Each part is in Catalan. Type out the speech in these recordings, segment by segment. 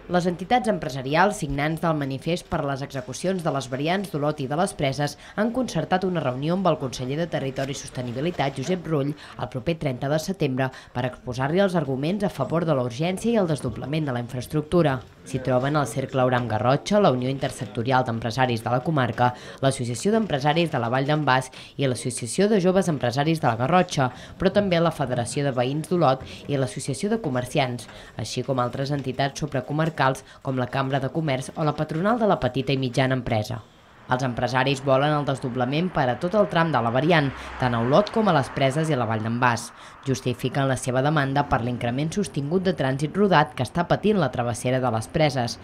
Les entitats empresarials signants del manifest per les execucions de les variants d'Olot i de les Preses han concertat una reunió amb el conseller de Territori i Sostenibilitat, Josep Rull, el proper 30 de setembre per exposar-li els arguments a favor de la urgència i el desdoblament de la infraestructura. S'hi troben el Cercle Auram Garrotxa, la Unió Intersectorial d'Empresaris de la Comarca, l'Associació d'Empresaris de la Vall d'en Bas i l'Associació de Joves Empresaris de la Garrotxa, però també la Federació de Veïns d'Olot i l'Associació de Comerciants, així com altres entitats supracomarcals com la Cambra de Comerç o la Patronal de la Petita i Mitjana Empresa. Els empresaris volen el desdoblament per a tot el tram de la variant, tant a Olot com a les Preses i a la Vall d'en Bas. Justifiquen la seva demanda per l'increment sostingut de trànsit rodat que està patint la travessera de les Preses.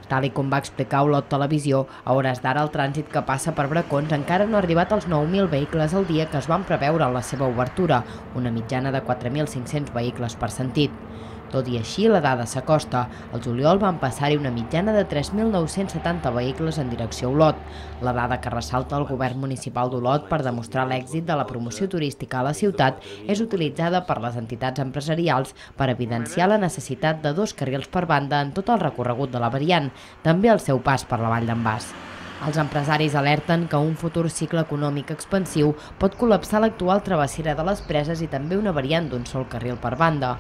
Tal i com va explicar Olot Televisió, a hores d'ara el trànsit que passa per Bracons encara no ha arribat als 9.000 vehicles al dia que es van preveure en la seva obertura, una mitjana de 4.500 vehicles per sentit. Tot i així, la dada s'acosta. Al juliol van passar-hi una mitjana de 3.970 vehicles en direcció a Olot. La dada que ressalta el govern municipal d'Olot per demostrar l'èxit de la promoció turística a la ciutat és utilitzada per les entitats empresarials per evidenciar la necessitat de 2 carrils per banda en tot el recorregut de la variant, també al seu pas per la Vall d'en Bas. Els empresaris alerten que un futur cicle econòmic expansiu pot col·lapsar l'actual travessera de les Preses i també una variant d'un sol carril per banda.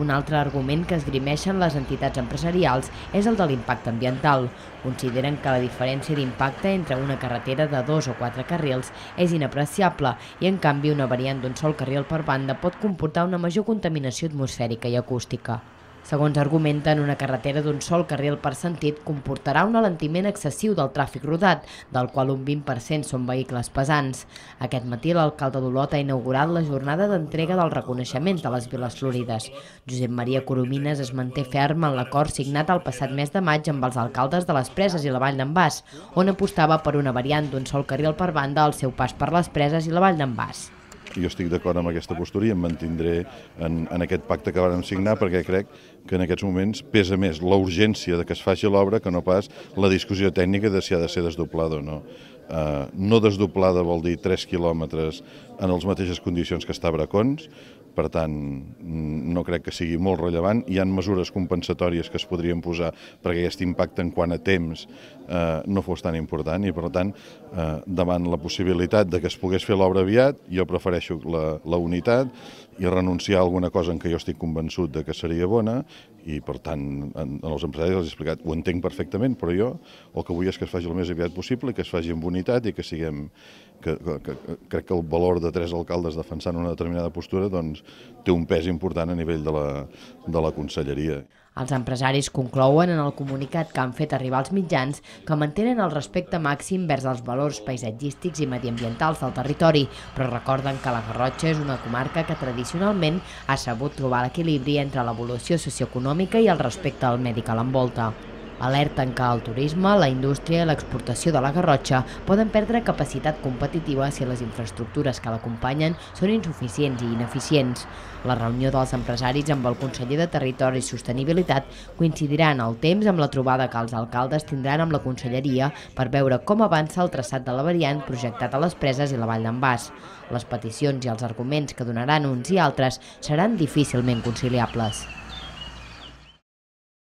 Un altre argument que esgrimeixen les entitats empresarials és el de l'impacte ambiental. Consideren que la diferència d'impacte entre una carretera de 2 o 4 carrils és inapreciable i, en canvi, una variant d'un sol carril per banda pot comportar una major contaminació atmosfèrica i acústica. Segons argumenten, una carretera d'un sol carril per sentit comportarà un alentiment excessiu del tràfic rodat, del qual un 20% són vehicles pesants. Aquest matí l'alcalde d'Olot ha inaugurat la jornada d'entrega dels reconeixements de les Viles Florides. Josep Maria Coromines es manté ferm en l'acord signat el passat mes de maig amb els alcaldes de les Preses i la Vall d'en Bas, on apostava per una variant d'un sol carril per banda al seu pas per les Preses i la Vall d'en Bas. Jo estic d'acord amb aquesta postura i em mantindré en aquest pacte que vàrem signar perquè crec que en aquests moments pesa més la urgència de que es faci l'obra que no pas la discussió tècnica de si ha de ser desdoblada o no. No desdoblada vol dir 3 quilòmetres en les mateixes condicions que està a Bracons, per tant, no crec que sigui molt rellevant. Hi ha mesures compensatòries que es podrien posar perquè aquest impacte en quant a temps no fos tan important i, per tant, davant la possibilitat de que es pogués fer l'obra aviat, jo prefereixo la unitat i renunciar a alguna cosa en què jo estic convençut de que seria bona i, per tant, als empresaris els he explicat, ho entenc perfectament, però jo el que vull és que es faci el més aviat possible, que es faci amb unitat i que siguem... Crec que el valor de 3 alcaldes defensant una determinada postura doncs, té un pes important a nivell de la conselleria. Els empresaris conclouen en el comunicat que han fet arribar als mitjans que mantenen el respecte màxim vers els valors paisatgístics i mediambientals del territori, però recorden que la Garrotxa és una comarca que tradicionalment ha sabut trobar l'equilibri entre l'evolució socioeconòmica i el respecte al medi que l'envolta. Alerten que el turisme, la indústria i l'exportació de la Garrotxa poden perdre capacitat competitiva si les infraestructures que l'acompanyen són insuficients i ineficients. La reunió dels empresaris amb el conseller de Territori i Sostenibilitat coincidirà en el temps amb la trobada que els alcaldes tindran amb la conselleria per veure com avança el traçat de la variant projectat a les Preses i la Vall d'en Bas. Les peticions i els arguments que donaran uns i altres seran difícilment conciliables.